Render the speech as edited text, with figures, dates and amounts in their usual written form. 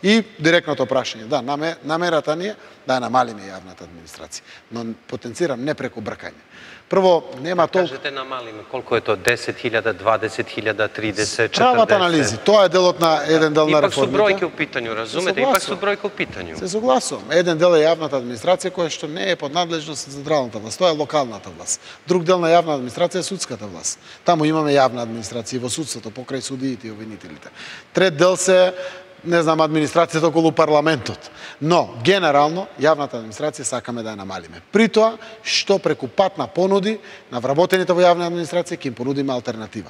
И директното прашање, да, намерата ни е да ја намалиме јавната администрација, но потенцирам не преку бркање. Прво, нема толку... Кажете намалиме, колку е тоа? 10.000, 20.000, 30, 40? Прават анализи, тоа е делот на еден дел на реформите. Ипак су бројки у питању, разумете? Ипак су бројки у питању. Се согласувам. Еден дел е јавната администрација која што не е под надлежност на централната власт, тоа е локалната власт. Друг дел на јавна администрација е судската власт. Таму имаме јавна администрација во судството, покрај судиите и обвинителите. Трет дел се администрацијата околу парламентот. Но, генерално, јавната администрација сакаме да ја намалиме. При тоа, што преку пат на понуди, на вработените во јавна администрација, ќе им понудиме алтернатива.